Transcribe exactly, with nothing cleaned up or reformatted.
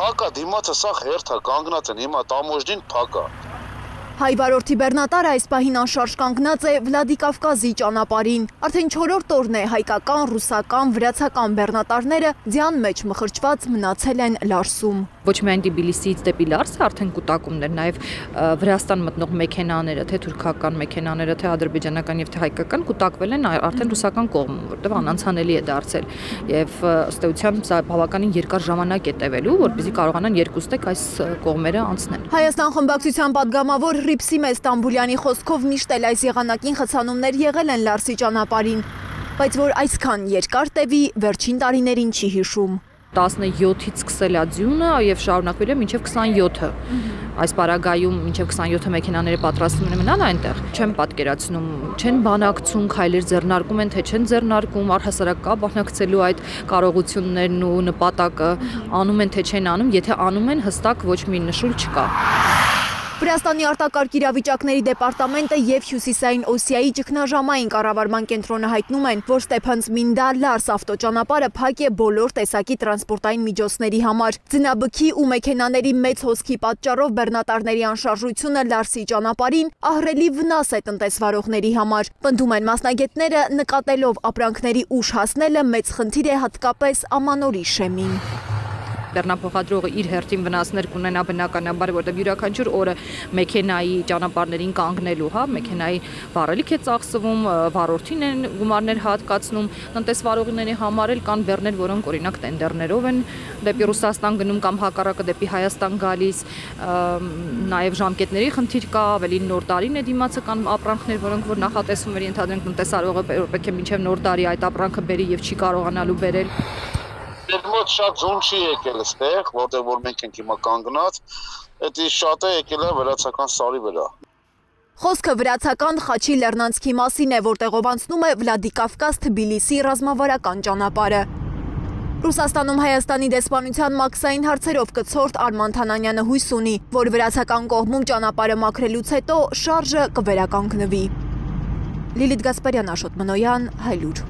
Փակա դիմացը սա հերթա կանգնած են հիմա տամոժդին փակա։ Հայ վարորդի բեռնատարը այս պահին անշարժ կանգնած է Վլադիկավկազի ճանապարհին։ Արդեն չորրորդ օրն է հայկական, ռուսական, վրացական բեռնատարները ձյան մեջ մխրճված մնացել են Լարսում։ Ոչ միայն Թբիլիսիից դեպի Լարսը արդեն կուտակումներ, նաև Վրաստան մտնող մեքենաները, թե թուրքական մեքենաները, թե ադրբեջանական եւ թե հայկական կուտակվել են արդեն ռուսական կողմում, որտեղ անանցանելի է դարձել։ Եվ ըստ էության սա բավականին երկար ժամանակ է տևելու, որպեսզի կարողանան երկուստեք այս կողմերը անցնել։ Հայաստան խմբակցության падգամավոր Հռիփսիմե Ստամբուլյանի խոսքով միշտ էլ այս եղանակին խցանումներ եղել են Լարսի ճանապարհին, բայց որ այսքան երկար տևի վերջին տարիներին չի հիշում։ տասնյոթից սկսել է ձյունը եւ շարունակվել է մինչեւ քսանյոթը։ Այս պարագայում մինչեւ քսանյոթը մեքենաները պատրաստվում են մնալ այնտեղ։ Չեմ պատկերացնում, չեն բանակցում, քայլեր ձեռնարկում են, թե չեն ձեռնարկում, առհասարակ կա բանակցելու այդ կարողություններն ու նպատակը, անում են թե չեն անում, եթե անում են, հստակ ոչ մի նշույլ չկա։ Վրաստանի արտակարգ իրավիճակների դեպարտամենտը եւ Հյուսիսային Օսիայի ճգնաժամային կառավարման կենտրոնը հայտնում են, որ Ստեփանցմինդա-Լարս ավտոճանապարհը փակ է բոլոր տեսակի տրանսպորտային միջոցների համար։ Ձնաբքի ու մեքենաների մեծ հոսքի պատճառով բեռնատարների անշարժությունը Լարսի ճանապարհին ահռելի վնաս է տնտեսվարողների համար։ Պնդում են մասնագետները, նկատելով ապրանքների ուշ հասնելը մեծ խնդիր է հատկապես ամանորի շեմին։ Բեռնափոխադրողը իր հերթին վնասներ կունենա բնականաբար, որտեղ յուրաքանչյուր օրը մեքենայի ճանապարհներին կանգնելու, հա, մեքենայի վառելիք է ծախսվում, վարորդին են գումարներ հատկացնում, տնտեսվարողների համար էլ կան բեռներ, որոնք օրինակ տենդերներով են դեպի Ռուսաստան գնում կամ հակառակը դեպի Հայաստան գալիս, նաև ժամկետների խնդիր կա, ավելի նոր տարին է դիմացը կան ապրանքներ, որոնք որ նախատեսվում էր ենթադրենք տնտեսվարողը պետք է մինչև նոր տարի այդ ապրանքը բերի եւ չի կարողանալու բերել։ Դեռ մոտ շատ ձուն չի եկել այստեղ, որտեղ որ մենք ենք հիմա կանգնած, դա շատ է եկել է վրացական սարի վրա։ Խոսքը վրացական Խաչի Լեռնանցքի մասին է, որտեղով անցնում է Վլադիկավկազ-Թբիլիսի ռազմավարական ճանապարհը։ Ռուսաստանում Հայաստանի դեսպանության մաքսային հարցերով կցորդ Արման Թանանյանը հույս ունի, որ վրացական կողմում ճանապարհը մաքրելուց հետո շարժը կվերականգնվի։ Լիլիթ Գասպարյան, Աշոտ Մնոյան, Հայլուր։